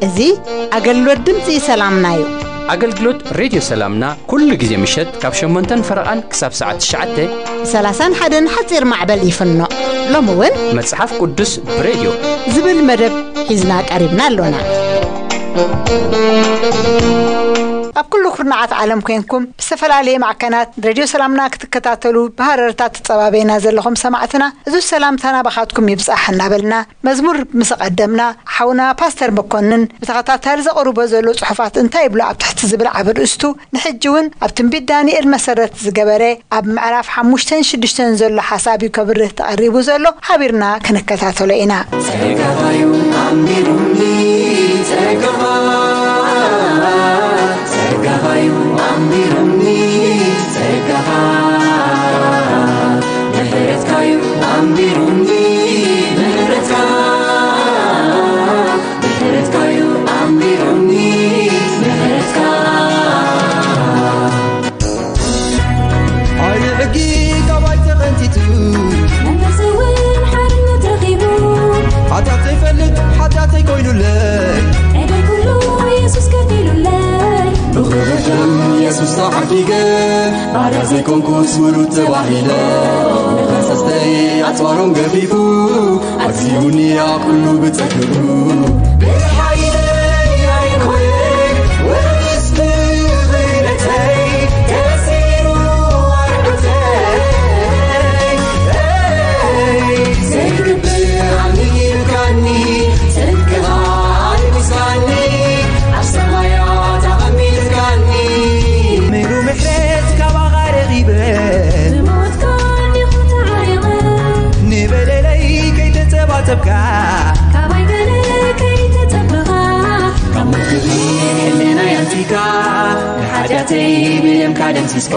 እዚ ኣገልግሎት ድምፂ ሰላምና እዩ። ኣገልግሎት ሬድዮ ሰላምና ኩሉ ግዜ ምሸት ካብ ሸሞንተን ፈረቓን ክሳብ ሰዓት ትሽዓተ። ሰላሳን ሓደን ሓፂር ማዕበል ይፍኖ። ሎሚ እውን መጽሓፍ ቅዱስ ብሬድዮ ዝብል መደብ ሒዝና ቀሪብና ኣሎና። ኣብ ኩሉ ኩርናዓት ዓለም ኮይንኩም ብዝተፈላለየ ማዕከናት ሬድዮ ሰላምና ክትከታተሉ ብሃረርታ ትጸባበዩና ዘለኹም ሰማዕትና፣ እዚ ሰላምታ ናባኻትኩም ይብጻሕ እናበልና፣ መዝሙር ምስ ኣቐደምና፣ ሓውና ፓስተር መኮንን ብተኸታታሊ ዘቕርቦ ዘሎ ጽሑፋት እንታይ ይብሉ ኣብ ትሕቲ ዝብል ዓቢ ርእስቱ፣ ንሕጂ እውን ኣብ ትንቢት ዳንኤል መሰረት ዝገበረ ኣብ ምዕራፍ ሓሙሽተን ሽዱሽተን ዘሎ ሓሳብ እዩ ከብርህ ተቐሪቡ ዘሎ፣ ሓቢርና ክንከታተሎ ኢና። ጸጋኻ እዩ ኣንቢሩኒ፣ ጸጋኻ፣ ጸጋኻ እዩ ኣንቢሩኒ፣ ጸጋኻ፣ ምሕረትካ እዩ ኣንቢሩኒ፣ ምሕረትካ፣ ምሕረትካ እዩ ኣንቢሩኒ፣ ምሕረትካ። ኣየ ሕጊ ካባይ ተቐንቲቱ፣ መንፈስ እውን ሓርነት ረኺቡ። ሓጢኣተይ ፈልጥ፣ ሓጢኣተይ ኮይኑለይ። ዕዳይ ኩሉ የሱስ ከፊሉለይ። ብኽብር ደም የሱስ ተዓዲገ፣ ባርያ ዘይኮንኩስ ውሉድ ተባሂለ። ንኸሰስተይ ኣጽዋሮም ገፊፉ፣ ኣግዚኡኒ ያ ኩሉ ብጸግኡ። ብሓይለይ ኣይኮነ ወይስ ብኽእለተይ ተሲሩ ኣርዑተይ። ዘይግብእ ኣሚንካኒ፣ ጽድቅኻ ኣልቢስካኒ፣ ኣብ ሰማያት ኣቐሚጥካኒ። ምሉ ምሕረት ካባኻ ረኺበ፣ ብሞትካ እንዲኹ ተዓሪቐ። ንበደለይ ከይተጸባጸብካ፣ ካባይ ገለ ከይተጸበኻ፣ ካብ ምክሪ ሕልናይ ኣንጺካ፣ ንሓጢኣተይ ብደምካ ደምሲስካ፣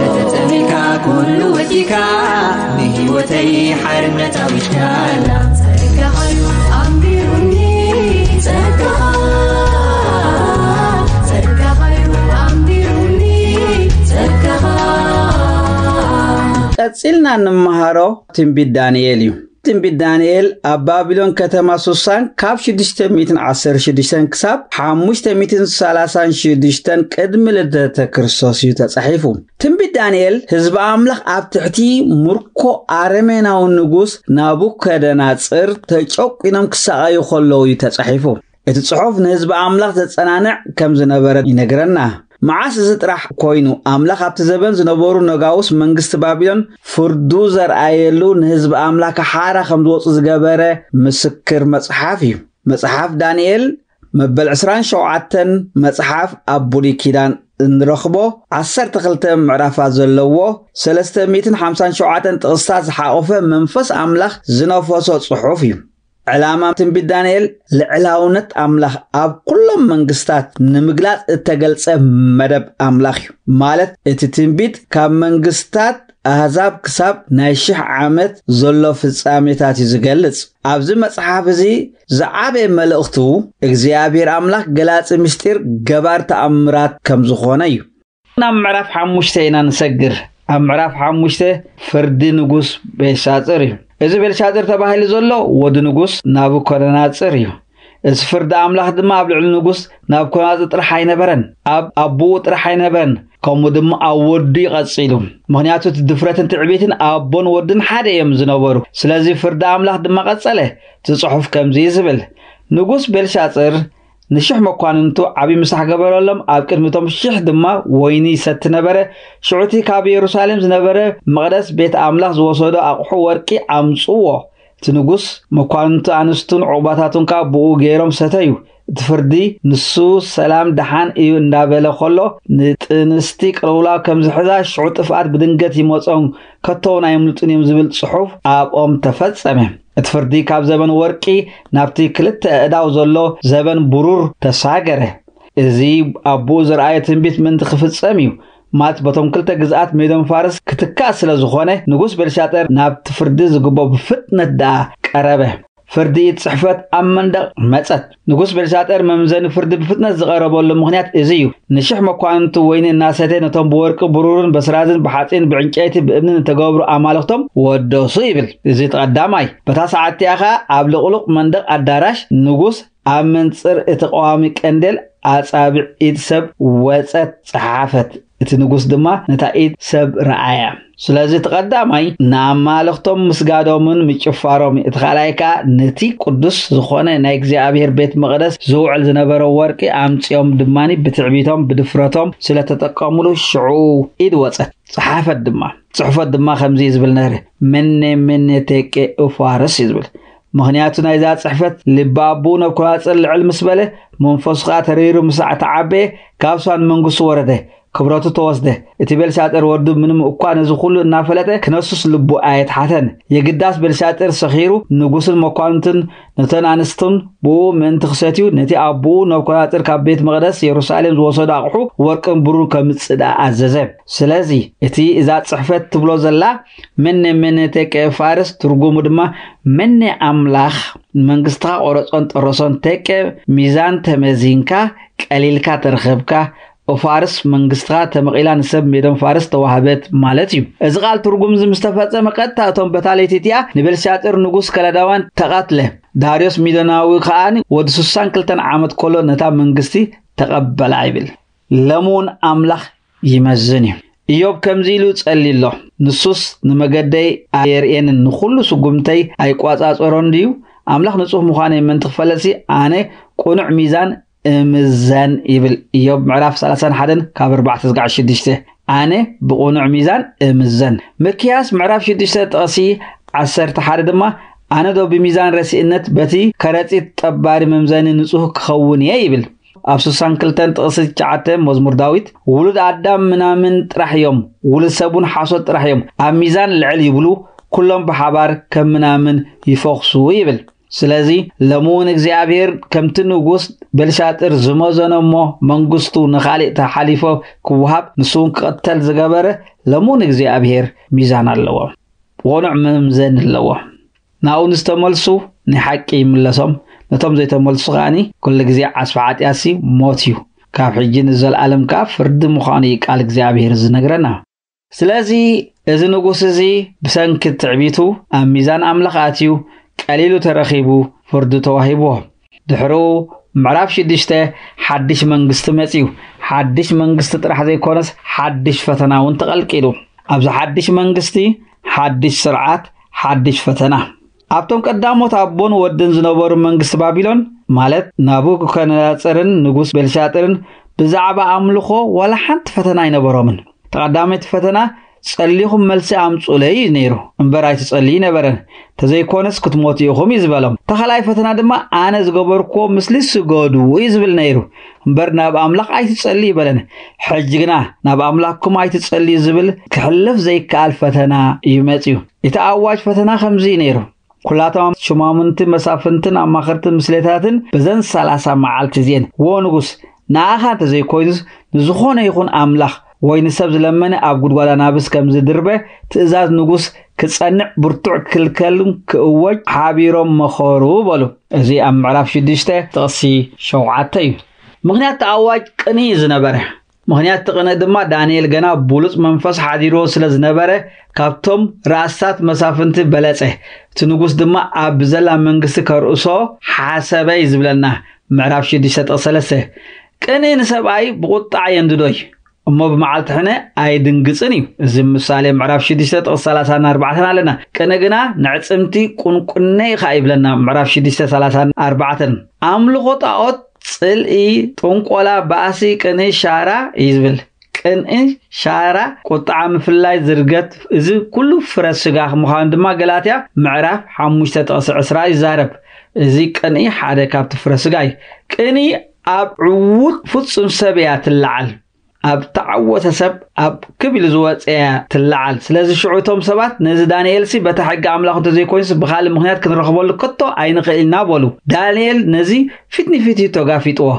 ተተጸሚካ ኩሉ ወዲካ፣ ንህይወተይ ሓርነት ኣዊጅካላ። ጸጋኻ እዩ ኣንቢሩኒ፣ ጸጋኻ፣ ጸጋኻ እዩ ኣንቢሩኒ፣ ጸጋኻ። ቀጺልና እንመሃሮ ትንቢት ዳንኤል እዩ። ትንቢት ዳንኤል ኣብ ባቢሎን ከተማ ሱሳን ካብ ሽዱሽተ ሚእትን ዓሰርተ ሽዱሽተን ክሳብ ሓሙሽተ ሚእትን ሰላሳን ሽዱሽተን ቅድሚ ልደተ ክርስቶስ እዩ ተጻሒፉ። ትንቢት ዳንኤል ህዝቢ ኣምላኽ ኣብ ትሕቲ ምርኮ ኣረሜናዊ ንጉስ ናቡከደናጽር ተጨቂኖም ክሳቐዩ ከለዉ እዩ ተጻሒፉ። እቲ ጽሑፍ ንህዝቢ ኣምላኽ ዘጸናንዕ ከም ዝነበረ ይነግረና። መዓስ እዚ ጥራሕ ኮይኑ፣ ኣምላኽ ኣብቲ ዘበን ዝነበሩ ነጋውስ መንግስቲ ባቢሎን ፍርዱ ዘርኣየሉ፣ ንህዝቢ ኣምላኽ ሓራ ከም ዝወጹ ዝገበረ ምስክር መጽሓፍ እዩ። መጽሓፍ ዳንኤል መበል ዕስራን ሸውዓተን መጽሓፍ ኣብ ብሉይ ኪዳን እንረኽቦ ዓሰርተ ክልተ ምዕራፋት ዘለዎ ሰለስተ ሚእትን ሓምሳን ሸውዓተን ጥቕስታት ዝሓቖፈ መንፈስ ኣምላኽ ዝነፈሶ ጽሑፍ እዩ። ዕላማ ትንቢት ዳንኤል ልዕላውነት ኣምላኽ ኣብ ኩሎም መንግስታት ንምግላጽ እተገልጸ መደብ ኣምላኽ እዩ። ማለት እቲ ትንቢት ካብ መንግስታት ኣህዛብ ክሳብ ናይ ሽሕ ዓመት ዘሎ ፍጻሜታት እዩ ዝገልጽ። ኣብዚ መጽሓፍ እዚ ዝዓበየ መልእኽቱ እግዚኣብሔር ኣምላኽ ገላጺ ምስጢር ገባር ተኣምራት ከም ዝኾነ እዩ። ናብ ምዕራፍ ሓሙሽተ ኢና ንሰግር። ኣብ ምዕራፍ ሓሙሽተ ፍርዲ ንጉስ ቤልሻጽር እዩ። እዚ ቤልሻጽር ተባሂሉ ዘሎ ወዲ ንጉስ ናቡኮደናጽር እዩ። እዚ ፍርዲ ኣምላኽ ድማ ኣብ ልዕሊ ንጉስ ናቡኮደናጽር ጥራሕ ኣይነበረን፣ ኣብ ኣቦኡ ጥራሕ ኣይነበረን፣ ከምኡ ድማ ኣብ ወዱ እዩ ቀጺሉ። ምኽንያቱ እቲ ድፍረትን ትዕቢትን ኣቦን ወድን ሓደ እዮም ዝነበሩ። ስለዚ ፍርዲ ኣምላኽ ድማ ቀጸለ። እቲ ጽሑፍ ከምዚ እዩ ዝብል፣ ንጉስ ቤልሻጽር ንሽሕ መኳንንቱ ዓቢ ምሳሕ ገበረሎም፣ ኣብ ቅድሚ እቶም ሽሕ ድማ ወይኒ ይሰቲ ነበረ። ሽዑ እቲ ካብ የሩሳሌም ዝነበረ መቕደስ ቤት ኣምላኽ ዝወሰዶ ኣቕሑ ወርቂ ኣምጽዎ። እቲ ንጉስ መኳንንቱ ኣንስቱን ዕቑባታቱን ከኣ ብኡ ገይሮም ሰተዩ። እቲ ፍርዲ ንሱ ሰላም ደሓን እዩ እንዳበለ ከሎ፣ ንጥንስቲ ቅልውላው ከም ዝሕዛ፣ ሽዑ ጥፍኣት ብድንገት ይመጾም፣ ከቶ እውን ኣይምልጡን እዮም ዝብል ጽሑፍ ኣብኦም ተፈጸመ። እቲ ፍርዲ ካብ ዘበን ወርቂ ናብቲ ክልተ ኣእዳው ዘሎ ዘበን ብሩር ተሳገረ። እዚ ኣቦኡ ዝረኣዮ ትንቢት ምእንቲ ክፍጸም እዩ። ማለት በቶም ክልተ ግዝኣት ሜዶን ፋርስ ክትካእ ስለ ዝኾነ፣ ንጉስ ቤልሻጠር ናብቲ ፍርዲ ዝግቦ ብፍጥነት ደኣ ቀረበ። ፍርዲ ኢድ ጽሕፈት ኣብ መንደቕ መጸት። ንጉስ ቤልሻጠር መምዘኒ ፍርዲ ብፍጥነት ዝቐረበሉ ምኽንያት እዚ እዩ። ንሽሕ መኳንንቱ ወይኒ እናሰተ ነቶም ብወርቂ ብሩርን በስራዝን ብሓጺን ብዕንጨይቲ ብእምንን እተገብሩ ኣማልኽቶም ወደሱ ይብል። እዚ እቲ ቀዳማይ። በታ ሰዓት እቲኣ ኸኣ ኣብ ልቕሉቕ መንደቕ ኣዳራሽ ንጉስ ኣብ መንጽር እቲ ቀዋሚ ቀንዴል ኣጻብዕ ኢድ ሰብ ወጸት ጸሓፈት። እቲ ንጉስ ድማ ነታ ኢድ ሰብ ረኣያ። ስለዚ እቲ ቀዳማይ ንኣማልኽቶም ምስጋዶምን ምጭፋሮም እዩ። እቲ ካልኣይ ከኣ ነቲ ቅዱስ ዝኾነ ናይ እግዚኣብሔር ቤት መቕደስ ዝውዕል ዝነበረ ወርቂ ኣምጺኦም ድማ ብትዕቢቶም ብድፍረቶም ስለተጠቀሙሉ ሽዑ ኢድ ወጸት፣ ጸሓፈት ድማ። ጽሕፈት ድማ ከምዚ እዩ ዝብል ነይሩ፣ መኔ መኔ ቴቄ እፋርስ እዩ ዝብል። ምኽንያቱ ናይዛ ጽሕፈት ልቢ ኣቦኡ ነብኮናጽር ልዕል ምስ በለ፣ መንፈሱ ከኣ ተረይሩ ምስ ኣተዓበየ፣ ካብ ዙፋን መንግስቱ ወረደ፣ ክብረቱ ተወስደ። እቲ ቤልሻጥር ወዱ ምንም እኳ ነዚ ኩሉ እናፈለጠ ክነሱስ ልቡ ኣየትሓተን። የግዳስ ቤልሻጥር ሰኺሩ ንጉስን መኳንንትን ነተን ኣንስትን ብኡ ምእንቲ ክሰትዩ ነቲ ኣቦኡ ነብኮናጽር ካብ ቤት መቕደስ የሩሳሌም ዝወሰዶ ኣቕሑ ወርቅን ብሩን ከምጽእ ደኣ ኣዘዘ። ስለዚ እቲ እዛ ጽሕፈት ትብሎ ዘላ መኔ መኔ ቴቄ ፋርስ ትርጉሙ ድማ መኔ ኣምላኽ መንግስትኻ ቆረጾን ጠረሶን ቴቄ ሚዛን ተመዚንካ ቀሊልካ ተረኸብካ ኦፋርስ መንግስትኻ ተመቒላ ንሰብ ሜዶን ፋርስ ተዋህበት ማለት እዩ። እዚ ቃል ትርጉም እዚ ምስ ተፈጸመ ቀጥታ እቶም በታ ለይቲ እቲኣ ንቤልሻጥር ንጉስ ከለዳውያን ተቐትለ። ዳርዮስ ሚዶናዊ ከኣ ወዲ ስሳን ክልተን ዓመት ከሎ ነታ መንግስቲ ተቐበላ ይብል። ለምውን ኣምላኽ ይመዝን እዩ። ኢዮብ ከምዚ ኢሉ ጸልዩ ኣሎ፣ ንሱስ ንመገደይ ኣየርእየንን ንኹሉ ስጉምተይ ኣይቋጻጸሮን ድዩ? ኣምላኽ ንጹህ ምዃነይ ምእንቲ ክፈለጥሲ ኣነ ቅኑዕ ሚዛን እምዘን ይብል። ኢዮብ ምዕራፍ ሰላሳን ሓደን ካብ ኣርባዕተ እስካዕ ሽዱሽተ። ኣነ ብቕኑዕ ሚዛን እምዘን። ምክያስ ምዕራፍ ሽዱሽተ ጥቕሲ ዓሰርተ ሓደ ድማ ኣነ ዶ ብሚዛን ረሲእነት በቲ ከረጺት ጠባሪ መምዘኒ ንጹህ ክኸውን እየ ይብል። ኣብ ስሳን ክልተን ጥቕሲ ትሽዓተ መዝሙር ዳዊት ውሉድ ኣዳም ምናምን ጥራሕ እዮም፣ ውሉድ ሰብ እውን ሓሶት ጥራሕ እዮም፣ ኣብ ሚዛን ልዕል ይብሉ፣ ኩሎም ብሓባር ከም ምናምን ይፈኽሱ ይብል። ስለዚ ሎሚ እውን እግዚኣብሔር ከምቲ ንጉስ ቤልሻጥር ዝመዘኖ እሞ መንግስቱ ንኻሊእ ተሓሊፎ ክወሃብ ንሱ እውን ክቕተል ዝገበረ ሎሚ እውን እግዚኣብሔር ሚዛን ኣለዎ። ብቕኑዕ መምዘኒ ኣለዎ። ናብኡ ንዝተመልሱ ንሓቂ ይምለሶም፣ ነቶም ዘይተመልሱ ከኣኒ ኩሉ ግዜ ዓስቢ ሓጢኣትሲ ሞት እዩ፣ ካብ ሕጂ ንዘለኣለም ከኣ ፍርዲ ምዃኑ እዩ ቃል እግዚኣብሔር ዝነግረና። ስለዚ እዚ ንጉስ እዚ ብሰንኪ ትዕቢቱ ኣብ ሚዛን ኣምላኽ ኣትዩ ቀሊሉ ተረኺቡ ፍርዱ ተዋሂብዎ። ድሕሩ ምዕራፍ ሽዱሽተ ሓድሽ መንግስቲ መጺኡ። ሓድሽ መንግስቲ ጥራሕ ዘይኮነስ ሓድሽ ፈተና እውን ተቐልቂሉ። ኣብዚ ሓድሽ መንግስቲ ሓድሽ ስርዓት ሓድሽ ፈተና። ኣብቶም ቀዳሞት ኣቦን ወድን ዝነበሩ መንግስቲ ባቢሎን ማለት ናቡከደነጻርን ንጉስ ቤልሻጥርን ብዛዕባ ኣምልኾ ዋላ ሓንቲ ፈተና ኣይነበሮምን። ተቐዳመይቲ ፈተና ጸሊኹም መልሲ ኣምጹለይ እዩ ነይሩ እምበር ኣይትጸልዩ ነበረን። ተዘይኮነስ ክትሞቱ ኢኹም እዩ ዝበሎም። ተኻላይ ፈተና ድማ ኣነ ዝገበርክዎ ምስሊ ስገዱ እዩ ዝብል ነይሩ እምበር ናብ ኣምላኽ ኣይትጸልዩ ይበለን። ሕጂ ግና ናብ ኣምላኽኩም ኣይትጸልዩ ዝብል ክሕልፍ ዘይከኣል ፈተና እዩ መጺኡ። እቲ ኣዋጅ ፈተና ከምዚ እዩ ነይሩ። ኩላቶም ሽማሙንቲ መሳፍንትን ኣማኸርትን ምስሌታትን በዘን ሰላሳ መዓልቲ እዚኤን። ወ ንጉስ ንኣኻ እንተዘይኮይኑስ ንዝኾነ ይኹን ኣምላኽ ወይ ንሰብ ዝለመነ ኣብ ጉድጓድ ኣናብስ ከም ዝድርበ ትእዛዝ ንጉስ ክጸንዕ ብርቱዕ ክልከልን ክእወጅ ሓቢሮም መኸሩ በሉ። እዚ ኣብ ምዕራፍ ሽዱሽተ ጥቕሲ ሸውዓተ እዩ። ምኽንያት ኣዋጅ ቅንኢ ዝነበረ ምኽንያት እቲ ቅንኢ ድማ ዳንኤል ገና ብሉጽ መንፈስ ሓዲርዎ ስለ ዝነበረ ካብቶም ራእስታት መሳፍንቲ በለጸ። እቲ ንጉስ ድማ ኣብ ብዘላ መንግስቲ ከርእሶ ሓሰበ እዩ ዝብለና። ምዕራፍ ሽዱሽተ ጥቕሲ ሰለስተ። ቅንኢ ንሰብኣይ ብቑጣዕ የንድዶ እዩ እሞ ብመዓልቲ ሕነ ኣይድንግጽን እዩ። እዚ ምሳሌ ምዕራፍ ሽዱሽተ ጥቕሲ ሰላሳን ኣርባዕተን ኣለና። ቅንኢ ግና ንዕጽምቲ ቁንቁነ ኢኻ ይብለና። ምዕራፍ ሽዱሽተ ሰላሳን ኣርባዕተን። ኣምልኾ ጣዖት ጽልኢ፣ ጥንቆላ፣ ባእሲ፣ ቅንኢ፣ ሻራ እዩ ዝብል። ቅንኢ፣ ሻራ፣ ቁጥዓ፣ ምፍላይ፣ ዝርገት፣ እዚ ኩሉ ፍረ ስጋ ምዃኑ ድማ ገላትያ ምዕራፍ ሓሙሽተ ጥቕሲ ዕስራ ይዛረብ። እዚ ቅንኢ ሓደ ካብቲ ፍረ ስጋ እዩ። ቅንኢ ኣብ ዕዉት ፍጹም ሰብ እያ ትለዓል። ኣብ ተዓወተ ሰብ ኣብ ክብ ኢሉ ዝወፀ እያ ትለዓል። ስለዚ ሽዑ እቶም ሰባት ነዚ ዳንኤልሲ በታ ሕጊ ኣምላኽ እንተዘይኮይኑስ ብኻልእ ምኽንያት ክንረኽበሉ ከቶ ኣይንኽእል ኢና በሉ። ዳንኤል ነዚ ፊት ንፊት እዩ ተጋፊጥዎ፣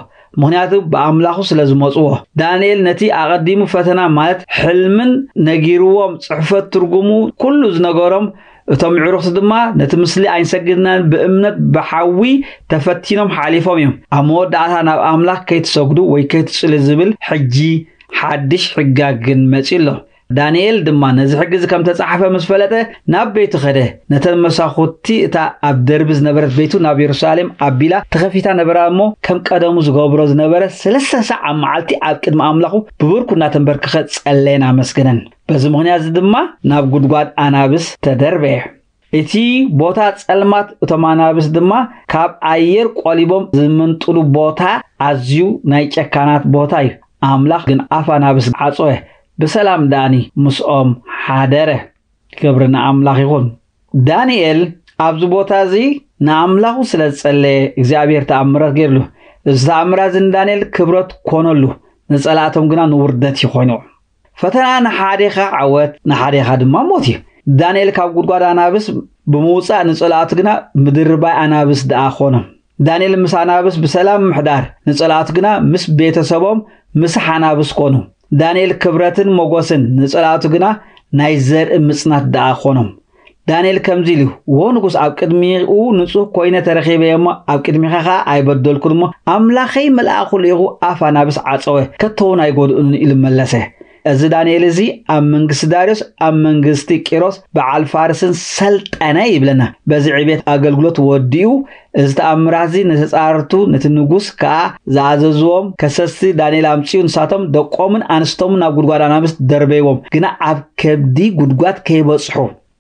ምኽንያቱ ብኣምላኹ ስለ ዝመፅዎ። ዳንኤል ነቲ ኣቐዲሙ ፈተና ማለት ሕልምን ነጊርዎም፣ ፅሕፈት ትርጉሙ ኩሉ ዝነገሮም እቶም ዕሩኽቲ ድማ ነቲ ምስሊ ኣይንሰግድናን ብእምነት ብሓዊ ተፈቲኖም ሓሊፎም እዮም። ኣብ መወዳእታ ናብ ኣምላኽ ከይትሰግዱ ወይ ከይትጽሉ ዝብል ሕጂ ሓድሽ ሕጋግ ግን መጺኡ ኣሎ። ዳንኤል ድማ ነዚ ሕጊ እዚ ከም ተጻሕፈ ምስ ፈለጠ ናብ ቤቱ ኸደ። ነተን መሳኹቲ እታ ኣብ ደርቢ ዝነበረት ቤቱ ናብ የሩሳሌም ኣቢላ ተኸፊታ ነበራ እሞ ከም ቀደሙ ዝገብሮ ዝነበረ ሰለስተ ሳዕ ኣብ መዓልቲ ኣብ ቅድሚ ኣምላኹ ብብርኩ እናተንበርከኸ ጸለየን ኣመስገነን። በዚ ምኽንያት እዚ ድማ ናብ ጉድጓድ ኣናብስ ተደርበየ። እቲ ቦታ ጸልማት እቶም ኣናብስ ድማ ካብ ኣየር ቆሊቦም ዝምንጥሉ ቦታ ኣዝዩ ናይ ጨካናት ቦታ እዩ። ኣምላኽ ግን ኣፍ ኣናብስ ዓጾየ። ብሰላም ዳኒ ምስኦም ሓደረ። ክብሪ ንኣምላኽ ይኹን። ዳንኤል ኣብዚ ቦታ እዚ ንኣምላኹ ስለ ዝጸለየ እግዚኣብሔር ተኣምራት ገይርሉ። እዚ ተኣምራት እዚ ንዳንኤል ክብረት ኮነሉ፣ ንጸላእቶም ግና ንውርደት እዩ ኮይኑ። ፈተና ንሓዴኻ ዓወት ንሓዴኻ ድማ ሞት እዩ። ዳንኤል ካብ ጉድጓድ ኣናብስ ብምውጻእ ንጸላእቱ ግና ምድርባይ ኣናብስ ደኣ ኮኖም። ዳንኤል ምስ ኣናብስ ብሰላም ምሕዳር ንጸላእቱ ግና ምስ ቤተሰቦም ምስ ሓናብስ ኮኑ። ዳንኤል ክብረትን ሞጎስን ንጸላእቱ ግና ናይ ዘርኢ ምጽናት ደኣ ኮኖም። ዳንኤል ከምዚ ኢሉ፣ "ወ ንጉስ ኣብ ቅድሚኡ ንጹህ ኮይነ ተረኺበ እሞ ኣብ ቅድሚኻ ኸኣ ኣይበደልኩን እሞ ኣምላኸይ መልኣኹ ልኢኹ ኣፍ ኣናብስ ዓጸወ፣ ከቶ እውን ኣይጎድኡንን" ኢሉ መለሰ። እዚ ዳንኤል እዚ ኣብ መንግስቲ ዳርዮስ ኣብ መንግስቲ ቂሮስ በዓል ፋርስን ሰልጠነ ይብለና። በዚ ዕቤት ኣገልግሎት ወዲኡ እዚ ተኣምራት እዚ ንተጻረርቱ ነቲ ንጉስ ከኣ ዝኣዘዝዎም ከሰስቲ ዳንኤል ኣምጺኡ ንሳቶም ደቆምን ኣንስቶምን ናብ ጉድጓድ ኣናብስ ደርበይዎም፣ ግና ኣብ ከብዲ ጉድጓድ ከይበጽሑ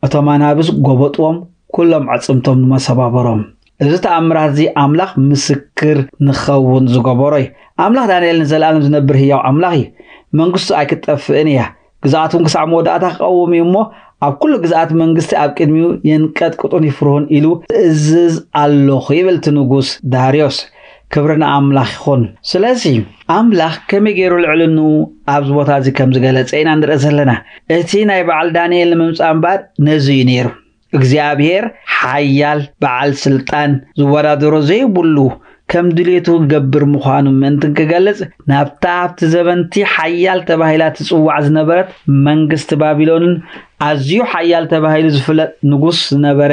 እቶም ኣናብስ ጎበጥዎም፣ ኩሎም ኣዕጽምቶም ድማ ሰባበሮም። እዚ ተኣምራት እዚ ኣምላኽ ምስክር ንኸውን ዝገበሮ እዩ። ኣምላኽ ዳንኤል ንዘለኣለም ዝነብር ህያው ኣምላኽ እዩ። መንግስቱ ኣይክትጠፍእን እያ። ግዝኣቱ እውን ክሳዕ መወዳእታ ክቐውም እዩ እሞ ኣብ ኩሉ ግዝኣት መንግስቲ ኣብ ቅድሚኡ የንቀጥቅጡን ይፍርሁን ኢሉ እዝዝ ኣለኹ ይብል እቲ ንጉስ ዳርዮስ። ክብሪ ንኣምላኽ ይኹን። ስለዚ ኣምላኽ ከመይ ገይሩ ልዕልንኡ ኣብዚ ቦታ እዚ ከም ዝገለጸ ኢና ንርኢ ዘለና። እቲ ናይ በዓል ዳንኤል ንምምጻእ እምበኣር ነዚ እዩ ነይሩ። እግዚኣብሔር ሓያል በዓል ስልጣን ዝወዳደሮ ዘይብሉ ከም ድሌቱ ክገብር ምዃኑ ምእንትን ክገልጽ ናብታ ኣብቲ ዘበንቲ ሓያል ተባሂላ ትጽዋዕ ዝነበረት መንግስቲ ባቢሎንን ኣዝዩ ሓያል ተባሂሉ ዝፍለጥ ንጉስ ዝነበረ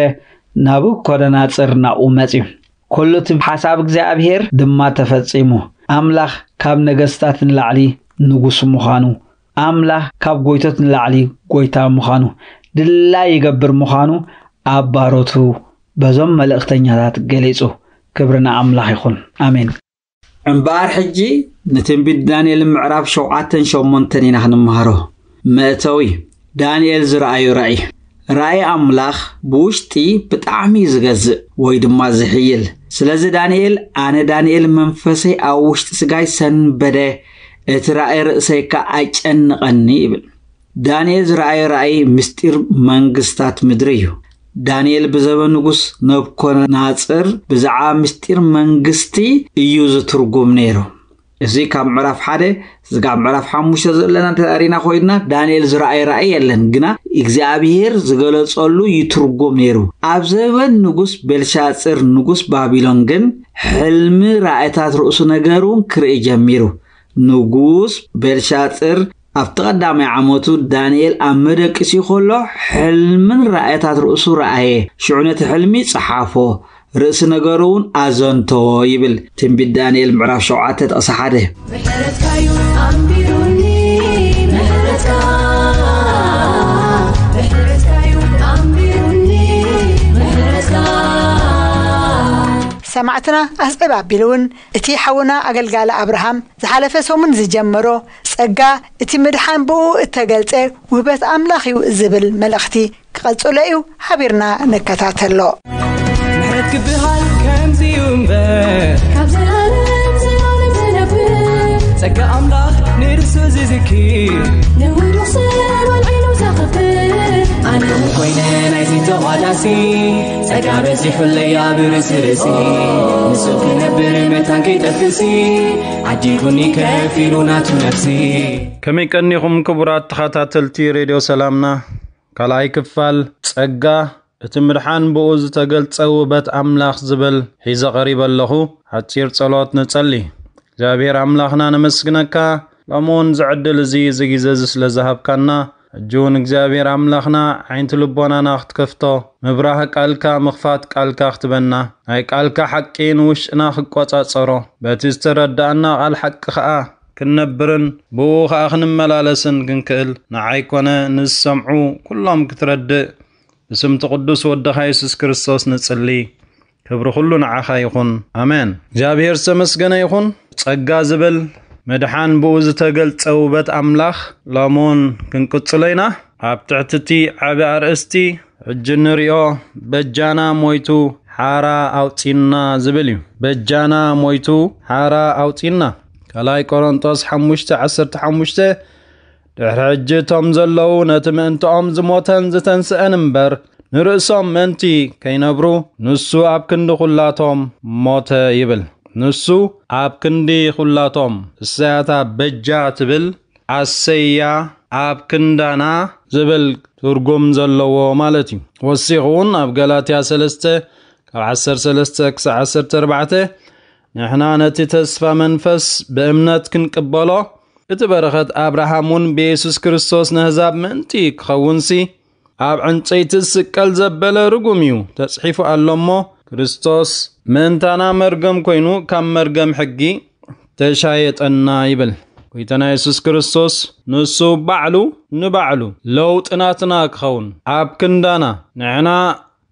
ናቡኮደናጽር ናብኡ መጺኡ። ኩሉ እቲ ሓሳብ እግዚኣብሔር ድማ ተፈጺሙ። ኣምላኽ ካብ ነገስታት ንላዕሊ ንጉስ ምዃኑ፣ ኣምላኽ ካብ ጎይቶት ንላዕሊ ጎይታ ምዃኑ፣ ድላይ ይገብር ምዃኑ ኣብ ባሮቱ በዞም መልእኽተኛታት ገሊጹ። ክብሪ ንኣምላኽ ይኹን። ኣሜን። እምበኣር ሕጂ ንትንቢት ዳንኤል ምዕራፍ ሸውዓተን ሸሞንተን ኢና ክንመሃሮ። መእተዊ፣ ዳንኤል ዝረኣዩ ራእይ። ራእይ ኣምላኽ ብውሽጢ ብጣዕሚ እዩ ዝገዝእ ወይ ድማ ዝሕይል። ስለዚ ዳንኤል፣ ኣነ ዳንኤል መንፈሰይ ኣብ ውሽጢ ስጋይ ሰንበደ፣ እቲ ራእይ ርእሰይ ከኣ ኣጨነቐኒ ይብል። ዳንኤል ዝረኣዮ ራእይ ምስጢር መንግስታት ምድሪ እዩ። ዳንኤል ብዘበን ንጉስ ነብኮናጽር ብዛዕባ ምስጢር መንግስቲ እዩ ዝትርጉም ነይሩ። እዚ ካብ ምዕራፍ ሓደ ስጋብ ምዕራፍ ሓሙሽተ ዘለና እንተሪና ኮይንና ዳንኤል ዝረኣየ ራእይ የለን፣ ግና እግዚኣብሔር ዝገለጸሉ ይትርጉም ነይሩ። ኣብ ዘበን ንጉስ ቤልሻጽር ንጉስ ባቢሎን ግን ሕልሚ ራእይታት ርእሱ ነገሩ ክርኢ ጀሚሩ። ንጉስ ቤልሻጽር ኣብቲ ቀዳማይ ዓመቱ ዳንኤል ኣብ መደቅሲ ከሎ ሕልምን ራእይታት ርእሱ ረኣየ። ሽዑ ነቲ ሕልሚ ጸሓፎ፣ ርእሲ ነገሩ እውን ኣዘንተዎ ይብል ትንቢት ዳንኤል ምዕራፍ ሸውዓተ ጥቕሲ ሓደ። ምሕረትካዩ ኣንቢሩኒ፣ ምሕረትካ፣ ምሕረትካዩ ኣንቢሩኒ፣ ምሕረትካ። ሰማዕትና ኣስዕብ ኣቢሉ እውን እቲ ሓውና ኣገልጋሊ ኣብርሃም ዝሓለፈ ሰሙን ዝጀመሮ ጸጋ እቲ ምድሓን ብኡ እተገልጸ ውህበት ኣምላኽ እዩ ዝብል መልእኽቲ ክቐጽሎ እዩ። ሓቢርና ንከታተሎ። ምሕረት ክበሃል ከምዚ እዩ እምበር፣ ካብ ዘላለም ዘላለም ዝነብር፣ ጸጋ ኣምላኽ ንርእሱ ዝዝክር፣ ንውዱቕ ሰብ ኣልዒሉ ዘኽብር፣ ኣነ እውን ኮይነ ናይዚ ተቋዳሲ፣ ጸጋ በዚሑለይ ኣብ ርእሲ ርእሲ፣ ንሱ ክነብር መታን ከይጠፍእሲ፣ ዓዲጉኒ ከፊሉ ናቱ ነፍሲ። ከመይ ቀኒኹም ክቡራት ተኸታተልቲ ሬድዮ ሰላምና? ካልኣይ ክፋል ጸጋ እቲ ምድሓን ብኡ ዝተገልጸ ውበት ኣምላኽ ዝብል ሒዘ ቀሪበ ኣለኹ። ሓጺር ጸሎት ንጸሊ። እግዚኣብሔር ኣምላኽና ነመስግነካ፣ ሎሚ እውን ዝዕድል እዚ፣ እዚ ግዜ እዚ ስለ ዝሃብካና፣ ሕጂ እውን እግዚኣብሔር ኣምላኽና ዓይንቲ ልቦናና ክትከፍቶ፣ ምብራህ ቃልካ ምኽፋት ቃልካ ክትበና፣ ናይ ቃልካ ሓቂ ንውሽጥና ክቆጻጸሮ፣ በቲ ዝተረዳእና ቃል ሓቂ ኸኣ ክንነብርን ብኡ ኸኣ ክንመላለስን ክንክእል፣ ንዓይ ኮነ ንዝሰምዑ ኩሎም ክትረድእ ብስምቲ ቅዱስ ወድኻ የሱስ ክርስቶስ ንጽሊ። ክብሪ ኩሉ ንዓኻ ይኹን። ኣሜን። እግዚኣብሔር ዝተመስገነ ይኹን። ጸጋ ዝብል ምድሓን ብኡ ዝተገልጸ ውበት ኣምላኽ ሎሚ እውን ክንቅጽሎ ኢና። ኣብ ትሕቲ እቲ ዓቢ ኣርእስቲ ሕጂ እንርእዮ በጃና ሞይቱ ሓራ ኣውጺና ዝብል እዩ። በጃና ሞይቱ ሓራ ኣውጺና። ካልኣይ ቆሮንጦስ ሓሙሽተ ዓሰርተ ሓሙሽተ ድሕሪ ሕጂ እቶም ዘለዉ ነቲ ምእንትኦም ዝሞተን ዝተንስአን እምበር፣ ንርእሶም ምእንቲ ከይነብሩ፣ ንሱ ኣብ ክንዲ ኹላቶም ሞተ ይብል። ንሱ ኣብ ክንዲ ኹላቶም፣ እሳያታ በጃ ትብል ኣሰያ ኣብ ክንዳና ዝብል ትርጉም ዘለዎ ማለት እዩ። ወሲኹ እውን ኣብ ገላትያ ሰለስተ ካብ ዓሰርተ ሰለስተ ክሳዕ ዓሰርተ ኣርባዕተ፣ ንሕና ነቲ ተስፋ መንፈስ ብእምነት ክንቅበሎ፣ እቲ በረኸት ኣብርሃም እውን ብየሱስ ክርስቶስ ነህዛብ ምእንቲ ክኸውንሲ፣ ኣብ ዕንጨይቲ ዝስቀል ዘበለ ርጉም እዩ፣ ተጽሒፉ ኣሎ እሞ፣ ክርስቶስ ምእንታና መርገም ኮይኑ፣ ካብ መርገም ሕጊ ተሻየጠና ይብል። ጎይታና የሱስ ክርስቶስ ንሱ ባዕሉ ንባዕሉ ለውጢ ናትና ክኸውን፣ ኣብ ክንዳና ንሕና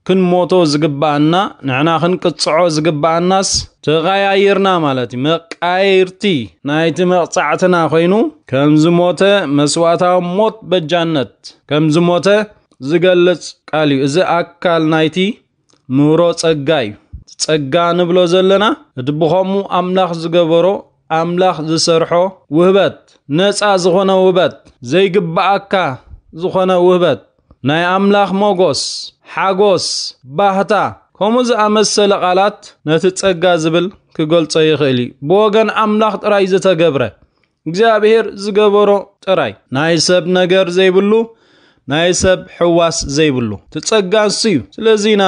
ክንሞቶ ዝግብኣና፣ ንሕና ክንቅጽዖ ዝግብኣናስ ተቐያይርና ማለት እዩ። መቃየርቲ ናይቲ መቕጻዕትና ኮይኑ፣ ከም ዝሞተ መስዋእታዊ ሞት በጃነት ከም ዝሞተ ዝገልጽ ቃል እዩ። እዚ ኣካል ናይቲ ምህሮ ጸጋ እዩ። ጸጋ ንብሎ ዘለና፣ እቲ ብኸምኡ ኣምላኽ ዝገበሮ፣ ኣምላኽ ዝሰርሖ ውህበት፣ ነጻ ዝኾነ ውህበት፣ ዘይግብኣካ ዝኾነ ውህበት፣ ናይ ኣምላኽ ሞጎስ፣ ሓጎስ፣ ባህታ፣ ከምኡ ዝኣመሰለ ቃላት ነቲ ጸጋ ዝብል ክገልጾ ይኽእል እዩ። ብወገን ኣምላኽ ጥራይ ዝተገብረ፣ እግዚኣብሔር ዝገበሮ ጥራይ፣ ናይ ሰብ ነገር ዘይብሉ፣ ናይ ሰብ ሕዋስ ዘይብሉ፣ እቲ ጸጋ እሱ እዩ። ስለዚ ኢና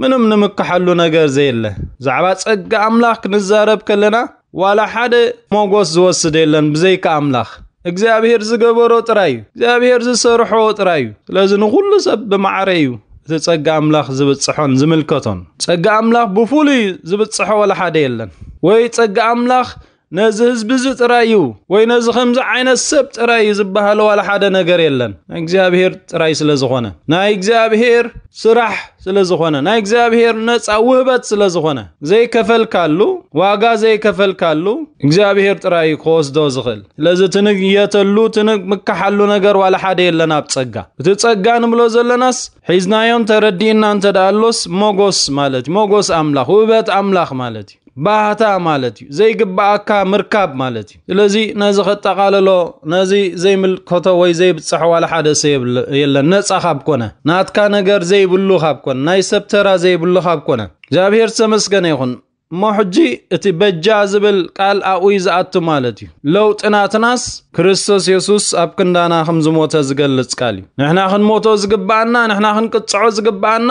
ምንም ንምክሓሉ ነገር ዘየለ። ብዛዕባ ጸጋ ኣምላኽ ክንዛረብ ከለና፣ ዋላ ሓደ ሞጎስ ዝወስድ የለን ብዘይካ ኣምላኽ። እግዚኣብሔር ዝገበሮ ጥራይ እዩ። እግዚኣብሔር ዝሰርሖ ጥራይ እዩ። ስለዚ ንኹሉ ሰብ ብማዕረ እዩ እቲ ጸጋ ኣምላኽ ዝብጽሖን ዝምልከቶን። ጸጋ ኣምላኽ ብፍሉይ ዝብጽሖ ዋላ ሓደ የለን። ወይ ጸጋ ኣምላኽ ነዚ ህዝቢ እዚ ጥራይ እዩ፣ ወይ ነዚ ከምዚ ዓይነት ሰብ ጥራይ እዩ ዝበሃል ዋላ ሓደ ነገር የለን። ናይ እግዚኣብሔር ጥራይ ስለ ዝኾነ፣ ናይ እግዚኣብሔር ስራሕ ስለ ዝኾነ፣ ናይ እግዚኣብሔር ነጻ ውህበት ስለ ዝኾነ፣ ዘይከፈልካሉ፣ ዋጋ ዘይከፈልካሉ እግዚኣብሔር ጥራይ እዩ ክወስዶ ዝኽእል። ስለዚ ትንየተሉ፣ ትንምክሓሉ ነገር ዋላ ሓደ የለን ኣብ ጸጋ። እቲ ጸጋ ንብሎ ዘለናስ ሒዝናዮን ተረዲእና እንተ ደኣ ኣሎስ ሞጎስ ማለት እዩ። ሞጎስ ኣምላኽ፣ ውህበት ኣምላኽ ማለት እዩ። ባህታ ማለት እዩ። ዘይግብኣካ ምርካብ ማለት እዩ። ስለዚ ነዚ ከጠቓልሎ፣ ነዚ ዘይምልከቶ ወይ ዘይብጽሖ ዋላ ሓደ ሰብ የብለ-፣ የለን። ነጻ ካብ ኮነ፣ ናትካ ነገር ዘይብሉ ካብ ኮነ፣ ናይ ሰብ ተራ ዘይብሉ ካብ ኮነ፣ እግዚኣብሔር ዝተመስገነ ይኹን። እሞ ሕጂ እቲ በጃ ዝብል ቃል ኣብኡ እዩ ዝኣቱ ማለት እዩ። ለውጢ ናትናስ ክርስቶስ የሱስ ኣብ ክንዳና ከም ዝሞተ ዝገልጽ ቃል እዩ። ንሕና ክንሞቶ ዝግብኣና፣ ንሕና ክንቅጽዖ ዝግብኣና፣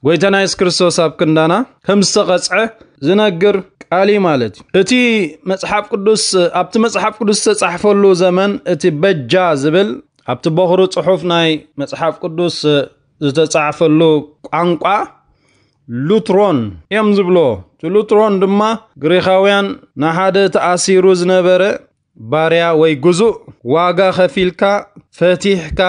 ጎይታና የሱስ ክርስቶስ ኣብ ክንዳና ከም ዝተቐጽዐ ዝነግር ቃል እዩ ማለት እዩ። እቲ መጽሓፍ ቅዱስ፣ ኣብቲ መጽሓፍ ቅዱስ ዝተጻሕፈሉ ዘመን እቲ በጃ ዝብል ኣብቲ በኹሪ ጽሑፍ ናይ መጽሓፍ ቅዱስ ዝተጻሕፈሉ ቋንቋ ሉትሮን እዮም ዝብሎ። እቲ ሉትሮን ድማ ግሪኻውያን ንሓደ ተኣሲሩ ዝነበረ ባርያ ወይ ግዙእ ዋጋ ከፊልካ ፈቲሕካ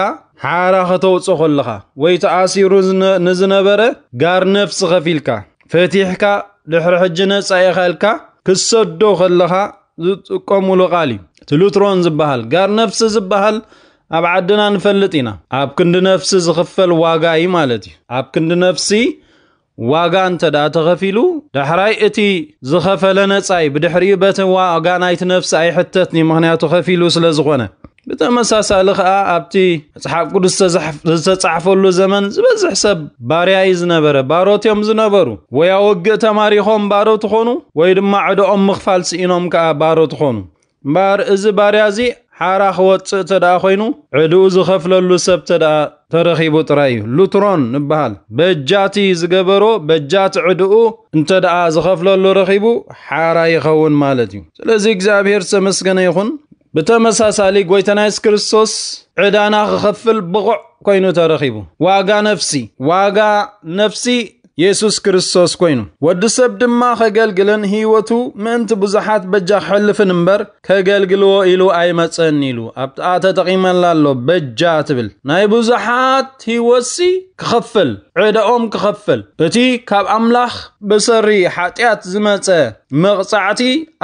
ሓራ ከተውፅኦ ከለኻ ወይ ተኣሲሩ ዝነ-፣ ንዝነበረ ጋር ነፍሲ ከፊልካ ፈቲሕካ ድሕሪ ሕጂ ነፃ ኢኻ ኢልካ ክትሰዶ ከለኻ ዝጥቀሙሉ ቃል እዩ። እቲ ሉትሮን ዝበሃል ጋር ነፍሲ ዝበሃል ኣብ ዓድና ንፈልጥ ኢና። ኣብ ክንዲ ነፍሲ ዝኽፈል ዋጋ እዩ ማለት እዩ። ኣብ ክንዲ ነፍሲ ዋጋ እንተ ደኣ ተኸፊሉ፣ ዳሕራይ እቲ ዝኸፈለ ነጻ እዩ። ብድሕሪኡ በቲ ዋጋ ናይቲ ነፍሲ ኣይሕተትን እዩ፣ ምኽንያቱ ከፊሉ ስለ ዝኾነ። ብተመሳሳሊ ኸኣ ኣብቲ መጽሓፍ ቅዱስ ዝተዛሕፍ-፣ ዝተጻሕፈሉ ዘመን ዝበዝሕ ሰብ ባርያ እዩ ዝነበረ፣ ባሮት እዮም ዝነበሩ። ወይ ኣብ ውግእ ተማሪኾም ባሮት ኾኑ፣ ወይ ድማ ዕዳኦም ምኽፋል ስኢኖም ከኣ ባሮት ኾኑ። እምበኣር እዚ ባርያ እዚ ሓራ ክወጽእ እንተ ደኣ ኾይኑ፣ ዕድኡ ዝኸፍለሉ ሰብ እንተ ደኣ ተረኺቡ ጥራይ እዩ። ሉትሮን ንበሃል። በጃቲ ዝገበሮ፣ በጃቲ ዕድኡ እንተ ደኣ ዝኸፍለሉ ረኺቡ፣ ሓራ ይኸውን ማለት እዩ። ስለዚ እግዚኣብሔር ዝተመስገነ ይኹን። ብተመሳሳሊ ጎይታና የሱስ ክርስቶስ ዕዳና ክኸፍል ብቑዕ ኮይኑ ተረኺቡ። ዋጋ ነፍሲ፣ ዋጋ ነፍሲ የሱስ ክርስቶስ ኮይኑ። ወዲ ሰብ ድማ ከገልግልን ህይወቱ ምእንቲ ብዙሓት በጃ ክሕልፍን እምበር ከገልግልዎ ኢሉ ኣይመጸን ኢሉ ኣብኣ ተጠቒመላ ኣሎ። በጃ ትብል ናይ ብዙሓት ህይወትሲ ክኸፍል፣ ዕዳኦም ክኸፍል፣ እቲ ካብ ኣምላኽ ብሰሪ ሓጢኣት ዝመጸ መቕጻዕቲ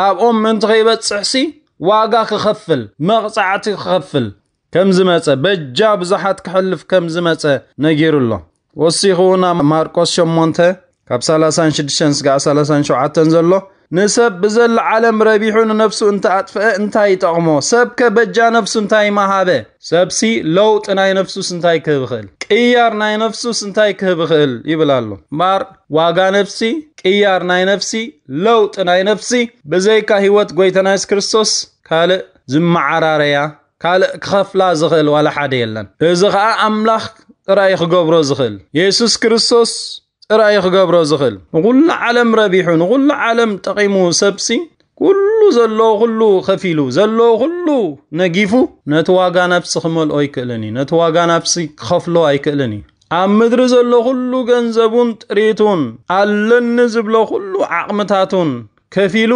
ኣብኦም ምእንቲ ከይበጽሕሲ ዋጋ ክኸፍል፣ መቕጻዕቲ ክኸፍል ከም ዝመጸ፣ በጃ ብዙሓት ክሕልፍ ከም ዝመጸ ነጊሩ ኣሎ። ወሲኹ ናብ ማርቆስ ሸሞንተ ካብ ሰላሳን ሽዱሽተን ስጋዕ ሰላሳን ሸውዓተን ዘሎ፣ ንሰብ ብዘለዓለም ረቢሑ ንነፍሱ እንተ ኣጥፍአ እንታይ ይጠቕሞ? ሰብከ በጃ ነፍሱ እንታይ መሃበ? ሰብሲ ለውጢ ናይ ነፍሱስ እንታይ ክህብ ይኽእል? ቅያር ናይ ነፍሱስ እንታይ ክህብ ይኽእል? ይብል ኣሎ። እምበኣር ዋጋ ነፍሲ፣ ቅያር ናይ ነፍሲ፣ ለውጢ ናይ ነፍሲ ብዘይካ ህይወት ጎይታና የሱስ ክርስቶስ ካልእ ዝመዓራረያ፣ ካልእ ክኸፍላ ዝኽእል ዋላ ሓደ የለን። እዚ ኸኣ ኣምላኽ ጥራይ ክገብሮ ዝኽእል፣ የሱስ ክርስቶስ ጥራይ ክገብሮ ዝኽእል። ንኹሉ ዓለም ረቢሑ፣ ንኹሉ ዓለም ጠቒሙ ሰብሲ፣ ኩሉ ዘለዎ ኩሉ ከፊሉ፣ ዘለዎ ኩሉ ነጊፉ፣ ነቲ ዋጋ ነፍሲ ክመልኦ ኣይክእልን እዩ። ነቲ ዋጋ ነፍሲ ክኸፍሎ ኣይክእልን እዩ። ኣብ ምድሪ ዘሎ ኩሉ ገንዘቡን ጥሪቱን፣ ኣለኒ ዝብሎ ኩሉ ዓቕምታቱን ከፊሉ፣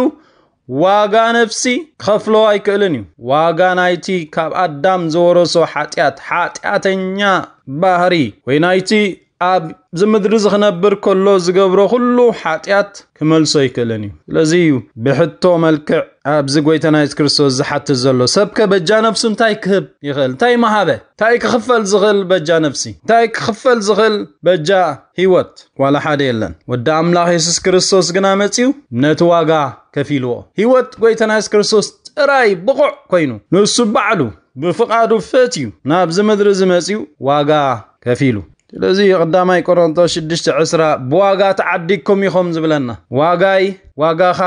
ዋጋ ነፍሲ ክኸፍሎ ኣይክእልን እዩ። ዋጋ ናይቲ ካብ ኣዳም ዝወረሶ ሓጢኣት፣ ሓጢኣተኛ ባህሪ፣ ወይ ናይቲ ኣብዚ ምድሪ እዚ ክነብር ከሎ ዝገብሮ ኩሉ ሓጢኣት ክመልሶ ኣይክእልን እዩ። ስለዚ እዩ ብሕቶ መልክዕ ኣብዚ ጎይታና የሱስ ክርስቶስ ዝሓትት ዘሎ። ሰብከ በጃ ነፍሱ እንታይ ክህብ ይኽእል? እንታይ መሃበ? እንታይ ክኽፈል ዝኽእል በጃ ነፍሲ? እንታይ ክኽፈል ዝኽእል በጃ ህይወት? ዋላ ሓደ የለን። ወዲ ኣምላኽ የሱስ ክርስቶስ ግና መጺኡ ነቲ ዋጋ ከፊልዎ። ህይወት ጎይታና የሱስ ክርስቶስ ጥራይ ብቑዕ ኮይኑ፣ ንሱ ባዕሉ ብፍቓዱ ፈትዩ ናብዚ ምድሪ እዚ መጺኡ ዋጋ ከፊሉ። ስለዚ ቀዳማይ ቆሮንቶስ ሽዱሽተ ዕስራ ብዋጋ ተዓዲግኩም ኢኹም ዝብለና። ዋጋይ፣ ዋጋኻ፣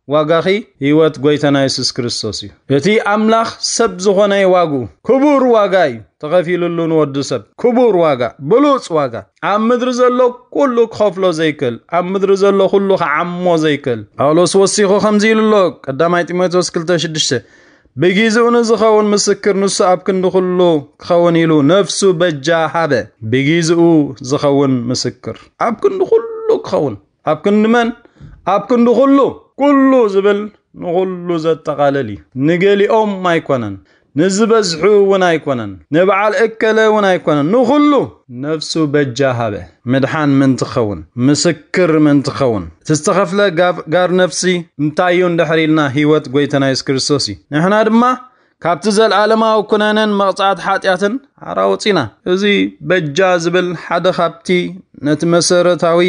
ዋጋኺ ህይወት ጎይታና የሱስ ክርስቶስ እዩ። እቲ ኣምላኽ ሰብ ዝኾነ ዋግኡ ክቡር ዋጋ እዩ ተኸፊሉሉ ንወዲ ሰብ። ክቡር ዋጋ፣ ብሉጽ ዋጋ። ኣብ ምድሪ ዘሎ ኩሉ ክኸፍሎ ዘይክእል፣ ኣብ ምድሪ ዘሎ ኩሉ ክዓሞ ዘይክእል። ጳውሎስ ወሲኹ ከምዚ ኢሉ ኣሎ፣ ቀዳማይ ጢሞቴዎስ ክልተ ሽዱሽተ፣ ብጊዜኡ ንዝኸውን ምስክር ንሱ ኣብ ክንዲ ኩሉ ክኸውን ኢሉ ነፍሱ በጃ ሃበ። ብጊዜኡ ዝኸውን ምስክር ኣብ ክንዲ ኩሉ ክኸውን። ኣብ ክንዲ መን? ኣብ ክንዲ ኩሉ። ኩሉ ዝብል ንኹሉ ዘጠቓልል እዩ። ንገሊኦም ኣይኮነን፣ ንዝበዝሑ እውን ኣይኮነን፣ ንበዓል እከለ እውን ኣይኮነን፣ ንኹሉ ነፍሱ በጃ ሃበ። ምድሓን ምእንቲ ክኸውን፣ ምስክር ምእንቲ ክኸውን። እቲ ዝተኸፍለ ጋብ-፣ ጋር ነፍሲ እንታይ እዩ እንድሕር ኢልና፣ ህይወት ጎይታና የሱስ ክርስቶስ እዩ። ንሕና ድማ ካብቲ ዘለኣለማዊ ኩነኔን መቕጻዕቲ ሓጢኣትን ሓራ ወጺና። እዚ በጃ ዝብል ሓደ ካብቲ ነቲ መሰረታዊ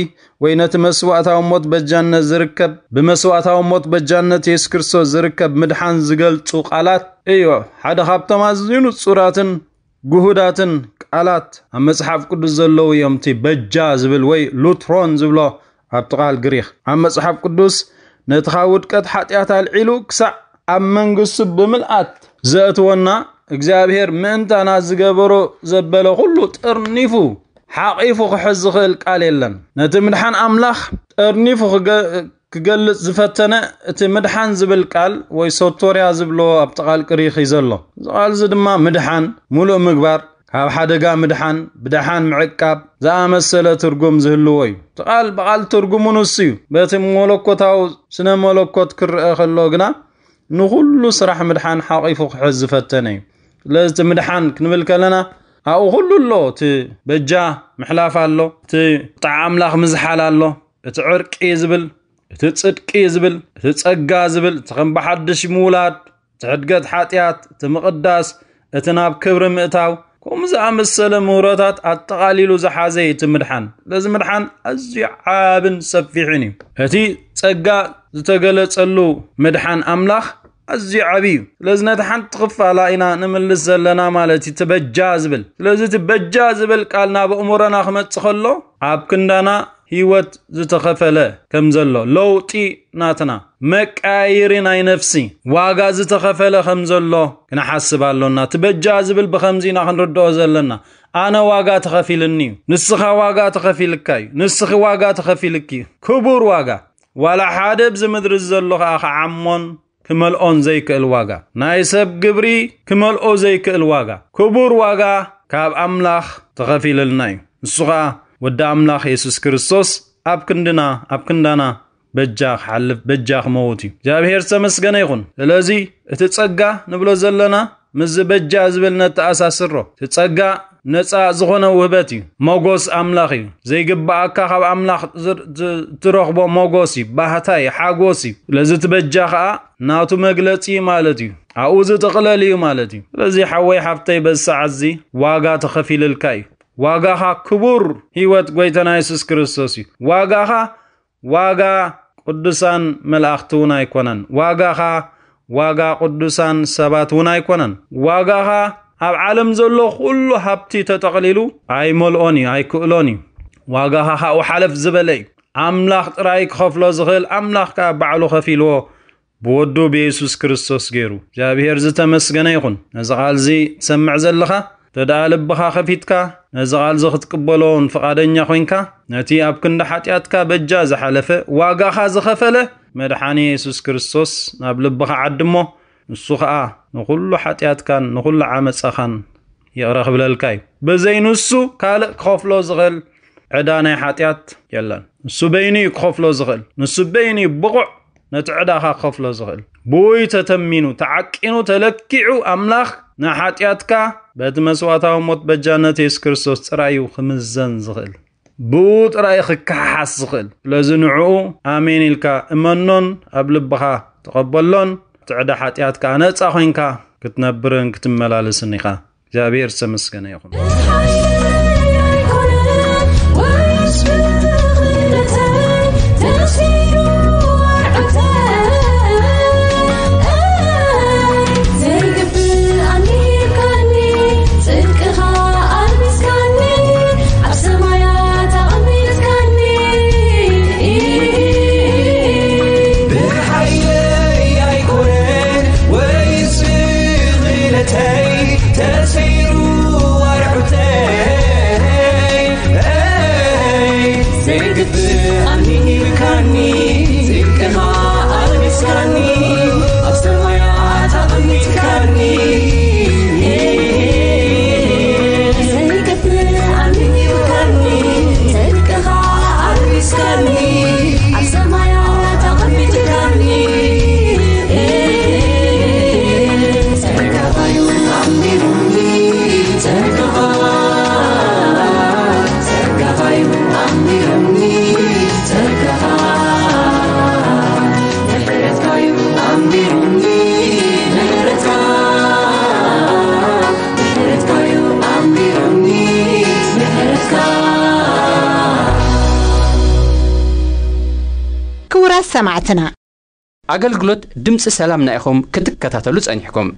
ወይ ነቲ መስዋእታዊ ሞት በጃነት ዝርከብ፣ ብመስዋእታዊ ሞት በጃነት የሱስ ክርስቶስ ዝርከብ ምድሓን ዝገልጹ ቃላት እዩ። ሓደ ካብቶም ኣዝዩ ንጹራትን ግሁዳትን ቃላት ኣብ መጽሓፍ ቅዱስ ዘለዉ እዮም። እቲ በጃ ዝብል ወይ ሉትሮን ዝብሎ ኣብቲ ቃል ግሪኽ ኣብ መጽሓፍ ቅዱስ ነቲ ካብ ውድቀት ሓጢኣት ኣልዒሉ ክሳዕ ኣብ መንግስቱ ብምልኣት ዘእትወና እግዚኣብሔር ምእንታና ዝገበሮ ዘበለ ኩሉ ጠርኒፉ ሓቒፉ ክሕዝ ዝኽእል ቃል የለን። ነቲ ምድሓን ኣምላኽ ጠርኒፉ ክገ-፣ ክገልጽ ዝፈተነ እቲ ምድሓን ዝብል ቃል ወይ ሶቶርያ ዝብሎ ኣብቲ ቃል ግሪኽ እዩ ዘሎ። እዚ ቃል እዚ ድማ ምድሓን፣ ሙሉእ ምግባር፣ ካብ ሓደጋ ምድሓን፣ ብደሓን ምዕቃብ ዝኣመሰለ ትርጉም ዝህልዎ እዩ። እቲ ቃል ብቓል ትርጉሙ ንሱ እዩ። በቲ መለኮታዊ ስነ መለኮት ክረአ ከሎ ግና ንኹሉ ስራሕ ምድሓን ሓቒፉ ክሕዝ ዝፈተነ እዩ። ስለዚ እቲ ምድሓን ክንብል ከለና ኣብኡ ኩሉ ኣሎ። እቲ በጃ ምሕላፍ ኣሎ፣ እቲ ጣዕ ኣምላኽ ምዝሓል ኣሎ፣ እቲ ዕርቂ ዝብል፣ እቲ ጽድቂ ዝብል፣ እቲ ጸጋ ዝብል፣ እቲ ከም ብሓድሽ ምውላድ፣ እቲ ሕድገት ሓጢኣት፣ እቲ ምቕዳስ፣ እቲ ናብ ክብሪ ምእታው፣ ከምኡ ዝኣመሰለ ምህሮታት ኣጠቓሊሉ ዝሓዘ እዩ እቲ ምድሓን። ስለዚ ምድሓን ኣዝዩ ዓብን ሰፊሕን እዩ። እቲ ጸጋ ዝተገለጸሉ ምድሓን ኣምላኽ ኣዝዩ ዓቢ እዩ። ስለዚ ነቲ ሓንቲ ክፋላ ኢና ንምልስ ዘለና ማለት እዩ፣ እቲ በጃ ዝብል። ስለዚ እቲ በጃ ዝብል ቃል ናብ ኣእምሮና ክመጽእ ከሎ ኣብ ክንዳና ህይወት ዝተኸፈለ ከም ዘሎ፣ ለውጢ ናትና መቃየሪ ናይ ነፍሲ ዋጋ ዝተኸፈለ ከም ዘሎ ክንሓስብ ኣሎና። እቲ በጃ ዝብል ብኸምዚ ኢና ክንርድኦ ዘለና። ኣነ ዋጋ ተኸፊልኒ እዩ፣ ንስኻ ዋጋ ተኸፊልካ እዩ፣ ንስኺ ዋጋ ተኸፊልኪ እዩ። ክቡር ዋጋ። ዋላ ሓደ ኣብዚ ምድሪ ዘሎ ኸዓ ክዓሞን ክመልኦን ዘይክእል ዋጋ፣ ናይ ሰብ ግብሪ ክመልኦ ዘይክእል ዋጋ፣ ክቡር ዋጋ ካብ ኣምላኽ ተኸፊልልና እዩ። ንሱ ኸኣ ወዲ ኣምላኽ የሱስ ክርስቶስ ኣብ ክንድና፣ ኣብ ክንዳና በጃ ክሓልፍ፣ በጃ ክመውት እዩ። እግዚኣብሔር ዝተመስገነ ይኹን። ስለዚ እቲ ጸጋ ንብሎ ዘለና ምስዚ በጃ ዝብል ነተኣሳስሮ። እቲ ጸጋ ነጻ ዝኾነ ውህበት እዩ። ሞጎስ ኣምላኽ እዩ። ዘይግብኣካ ካብ ኣምላኽ ዝር-፣ ዝ-፣ ትረኽቦ ሞጎስ እዩ፣ ባህታ እዩ፣ ሓጎስ እዩ። ስለዚ እቲ በጃ ኸኣ ናቱ መግለጺ ማለት እዩ። ኣብኡ ዝጥቕለል እዩ ማለት እዩ። ስለዚ ሓወይ ሓፍተይ በዚ ሰዓት እዚ ዋጋ ተኸፊልልካ እዩ። ዋጋኻ ክቡር ህይወት ጎይታና የሱስ ክርስቶስ እዩ። ዋጋኻ ዋጋ ቅዱሳን መላእኽቲ እውን ኣይኮነን። ዋጋኻ ዋጋ ቅዱሳን ሰባት እውን ኣይኮነን። ዋጋኻ ኣብ ዓለም ዘሎ ኩሉ ሃብቲ ተጠቕሊሉ ኣይመልኦን እዩ፣ ኣይክእሎን እዩ። ዋጋኻ ካብኡ ሓለፍ ዝበለ እዩ። ኣምላኽ ጥራይ ክኸፍሎ ዝኽእል፣ ኣምላኽ ከኣ ባዕሉ ከፊልዎ ብወዱ ብየሱስ ክርስቶስ ገይሩ። እግዚኣብሔር ዝተመስገነ ይኹን። ነዚ ቃል እዚ ትሰምዕ ዘለኻ፣ ተደኣ ልብኻ ከፊትካ ነዚ ቃል እዚ ክትቅበሎ እውን ፍቓደኛ ኮይንካ፣ ነቲ ኣብ ክንዲ ሓጢኣትካ በጃ ዝሓለፈ፣ ዋጋኻ ዝኸፈለ መድሓኒ የሱስ ክርስቶስ ናብ ልብኻ ዓድሞ። ንሱ ኸኣ ንኹሉ ሓጢኣትካን ንኹሉ ዓመጻኻን ይቕረ ክብለልካ እዩ። ብዘይ ንሱ ካልእ ክኸፍሎ ዝኽእል ዕዳ ናይ ሓጢኣት የለን። ንሱ በይኑ እዩ ክኸፍሎ ዝኽእል። ንሱ በይኑ እዩ ብቑዕ ነቲ ዕዳኻ ክኸፍሎ ዝኽእል። ብኡ እዩ ተተሚኑ፣ ተዓቂኑ፣ ተለኪዑ። ኣምላኽ ንሓጢኣትካ በቲ መስዋእታዊ ሞት በጃነት የሱስ ክርስቶስ ጥራይ እዩ ክምዘን ዝኽእል። ብኡ ጥራይ ክከሓሓስ ዝኽእል። ስለዚ ንዕኡ ኣሜን ኢልካ እመኖን ኣብ ልብኻ ተቐበሎን፣ እቲ ዕዳ ሓጢኣት ከኣ ነጻ ኮይንካ ክትነብርን ክትመላለስን ኢኻ። እግዚኣብሔር ዝተመስገነ ይኹን። ክቡራት ሰማዕትና፣ ኣገልግሎት ድምፂ ሰላምና ኢኹም ክትከታተሉ ጸኒሕኩም።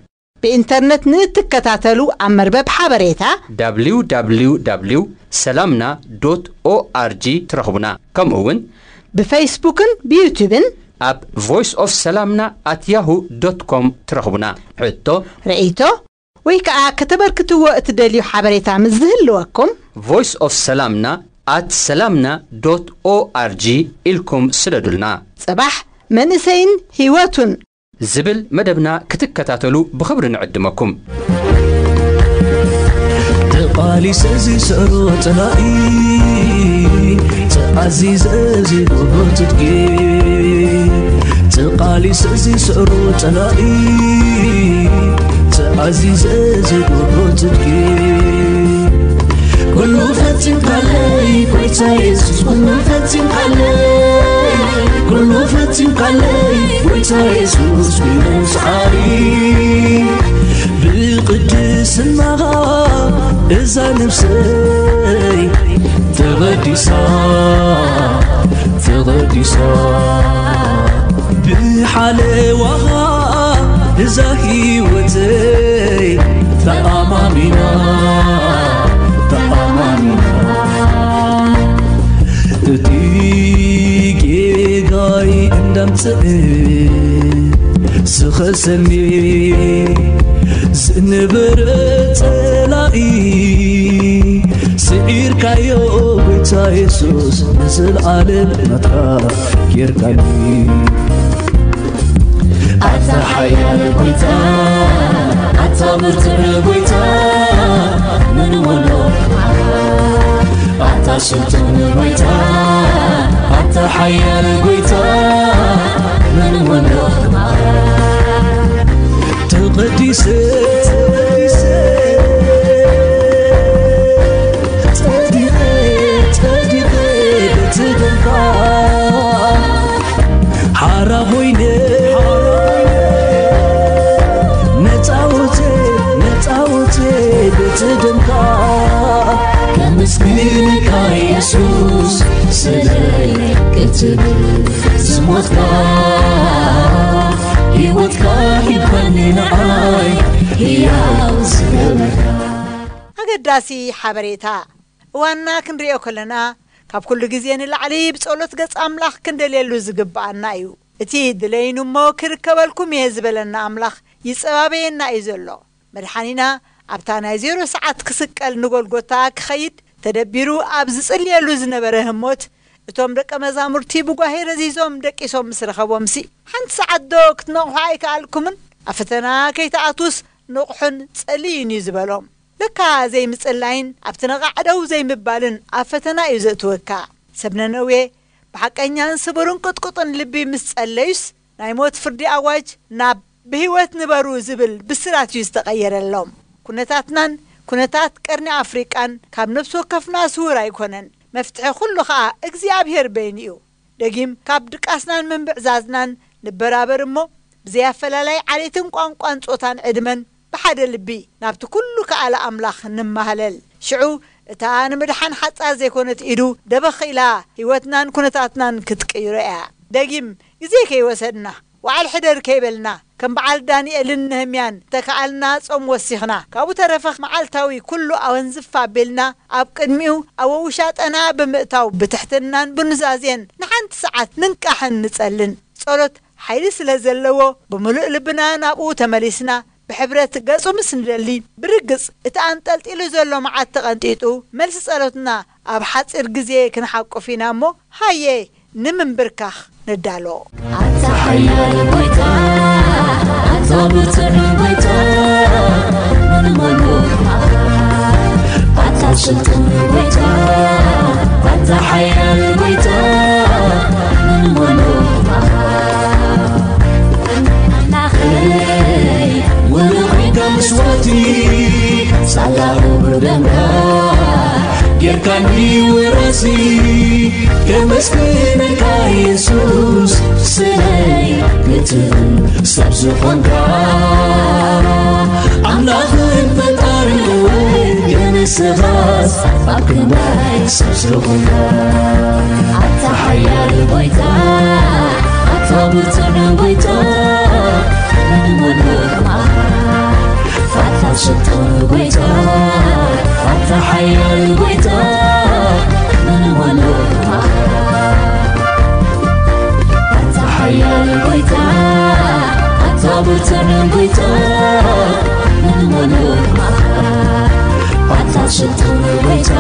ብኢንተርነት ንእትከታተሉ ኣብ መርበብ ሓበሬታ www ሰላምና ዶት ኦኣርጂ ትረኽቡና። ከምኡ እውን ብፌስቡክን ብዩቱብን ኣብ ቮይስ ኦፍ ሰላምና ኣት ያሁ ዶት ኮም ትረኽቡና። ሕቶ፣ ርእይቶ ወይ ከዓ ከተበርክትዎ እትደልዩ ሓበሬታ ምስ ዝህልወኩም ቮይስ ኦፍ ሰላምና ኣት ሰላምና ዶት ኦኣርጂ ኢልኩም ስደዱልና። ጽባሕ መንእሰይን ህይወቱን ዝብል መደብና ክትከታተሉ ብኽብሪ ንዕድመኩም። ተቓሊሰ ዝስዕሮ ጸላኢ፣ ተኣዚዘ ዝጎቦ ትጥቂ። ተቓሊሰ ዝስዕሮ ጸላኢ፣ ተኣዚዘ ዝጎቦ ትጥቂ። ኩሉ ፈጺምካለይ ጎይታ የሱስ፣ ኩሉ ፈጺምካለይ፣ ኩሉ ፈጺምካለይ ጎይታ የሱስ፣ ብመስዓሪ ብቅድስናኻ እዛ ነፍሰይ ተቐዲሳ፣ ተቐዲሳ። ብሓለዋኻ እዛ ህይወተይ ተኣማሚና፣ ተኣማሚና። እቲ ጌጋይ እንዳምጽእ ዝኸሰኒ ዝነበረ ጸላኢ ስዒርካዮ ጎይታ የሱስ ንዘለዓለም ናትካ ጌርካኒ። ኣታ ሓያል ጎይታ፣ ኣታ ብርቱዕ ጎይታ፣ ምን ወሎ ኣታ ስልጡን ጎይታ፣ ኣታ ሓያል ጎይታ፣ ምን ወሎ ተቐዲሰ፣ ተቐዲሰ፣ ጸዲቐ፣ ጸዲቐ፣ በቲ ደምካ ሓራ ኮይነ፣ ነጻ ወጸ፣ ነጻ ወጸ፣ በቲ ደምካ ከመስግንካ የሱስ፣ ስለይ ክትብል ዝሞትካ፣ ህይወትካ ሂብካኒ ንዓይ ህያው ዝገበርካ። ኣገዳሲ ሓበሬታ። እዋንና ክንርእዮ ከለና፣ ካብ ኩሉ ግዜ ንላዕሊ ብጸሎት ገጽ ኣምላኽ ክንደልየሉ ዝግብኣና እዩ። እቲ ድለይኑ እሞ ክርከበልኩም እየ ዝበለና ኣምላኽ ይጸባበየና እዩ ዘሎ። መድሓኒና ኣብታ ናይ ዜሮ ሰዓት ክስቀል ንጎልጎታ ክኸይድ ተደቢሩ ኣብ ዝጽልየሉ ዝነበረ ህሞት፣ እቶም ደቀ መዛሙርቲ ብጓሄ ረዚዞም ደቂሶም ምስ ረኸቦምሲ፣ ሓንቲ ሰዓት ዶ ክትነቕሑ ኣይከኣልኩምን? ኣብ ፈተና ከይትኣትዉስ ንቕሑን ጸልዩን እዩ ዝበሎም። ለካ ዘይምጽላይን ኣብቲ ነቓዕ ደው ዘይምባልን ኣብ ፈተና እዩ ዘእትወካ። ሰብ ነነዌ ብሓቀኛን ስቡርን ቅጥቁጥን ልቢ ምስ ጸለዩስ፣ ናይ ሞት ፍርዲ ኣዋጅ ናብ ብህይወት ንበሩ ዝብል ብስራት እዩ ዝተቐየረሎም። ኩነታትናን ኩነታት ቀርኒ ኣፍሪቃን ካብ ነፍሲ ወከፍና ስዉር ኣይኮነን። መፍትሒ ኩሉ ኸኣ እግዚኣብሔር በይኑ እዩ። ደጊም ካብ ድቃስናን ምንብዕዛዝናን ንበራበር እሞ፣ ብዘይ ኣፈላላይ ዓሌትን ቋንቋን ጾታን ዕድመን ብሓደ ልቢ ናብቲ ኩሉ ከኣለ ኣምላኽ ንማህለል። ሽዑ እታ ንምድሓን ሓጻር ዘይኮነት ኢዱ ደበኽ ኢላ ህይወትናን ኩነታትናን ክትቅይሮ እያ። ደጊም ግዜ ከይወሰድና፣ ዋዕል ሕደር ከይበልና፣ ከም በዓል ዳንኤልን ነህምያን ተከኣልና ጾም ወሲኽና፣ ካብኡ ተረፈ መዓልታዊ ኩሉ ኣወንዝፍ ኣቢልና ኣብ ቅድሚኡ ኣብ ውሻጠና ብምእታው ብትሕትናን ብኑዛዜን ንሓንቲ ሰዓት ንንቃሕን ንጸልን። ጸሎት ሓይሊ ስለ ዘለዎ ብምሉእ ልብና ናብኡ ተመሊስና ብሕብረት ገጹ ምስ ንደሊ፣ ብርግጽ እቲ ኣንጠልጢሉ ዘሎ መዓት ተቐንጢጡ፣ መልሲ ጸሎትና ኣብ ሓጺር ግዜ ክንሓቁፍ ኢና እሞ፣ ሃየ ንምንብርካኽ ንዳሎ። ኣታ ሓያል ጎይታ፣ ኣታ ብርቱዕ ጎይታ፣ ምን ወሎ ኣታ ስልጡን ጎይታ፣ ኣታ ሓያል ጎይታ፣ ምን ወሎ ኣምላኸይ፣ ውሩይ ኮይንካ ምስዋቲ፣ ሳላ ክቡር ደምካ ጌርካኒ ውራሲ። ከመስግነካ የሱስ፣ ስለይ ክትብል ሰብ ዝኾንካ፣ ኣምላኽን ፈጣርን እውን፣ ግን ሰባት ኣብ ክንዳይ ሰብ ዝኾንካ። ኣታ ሓያል ጎይታ፣ ኣታ ብርቱዕ ጎይታ፣ ምን ወሎ ኣታ ስልጡን ጎይታ፣ ኣታ ሓያል ጎይታ፣ ምን ወሎ ኣታ ሓያል ጎይታ፣ ኣታ ብርቱዕ ጎይታ፣ ምን ወሎ ኣታ ስልጡን ጎይታ፣